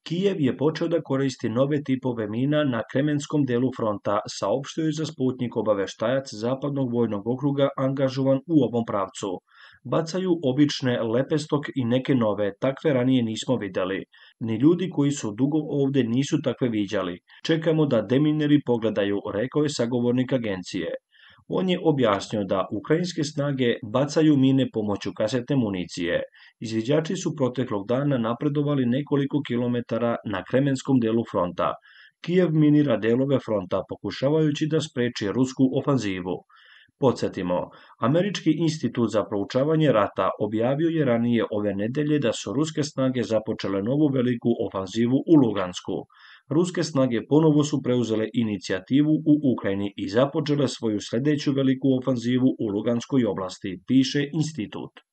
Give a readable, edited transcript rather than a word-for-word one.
Kijev je počeo da koristi nove tipove mina na Kremenskom delu fronta, saopštio je za Sputnik obaveštajac Zapadnog vojnog okruga angažovan u ovom pravcu. Bacaju obične lepestok i neke nove, takve ranije nismo videli. Ni ljudi koji su dugo ovde nisu takve viđali. Čekamo da demineri pogledaju, rekao je sagovornik agencije. On je objasnio da ukrajinske snage bacaju mine pomoću kasetne municije. Izviđači su proteklog dana napredovali nekoliko kilometara na Kremenskom delu fronta. Kijev minira delove fronta pokušavajući da spreči rusku ofanzivu. Podsjetimo, Američki institut za proučavanje rata objavio je ranije ove nedelje da su ruske snage započele novu veliku ofanzivu u Lugansku. Ruske snage ponovo su preuzele inicijativu u Ukrajini i započele svoju sledeću veliku ofanzivu u Luganskoj oblasti, piše institut.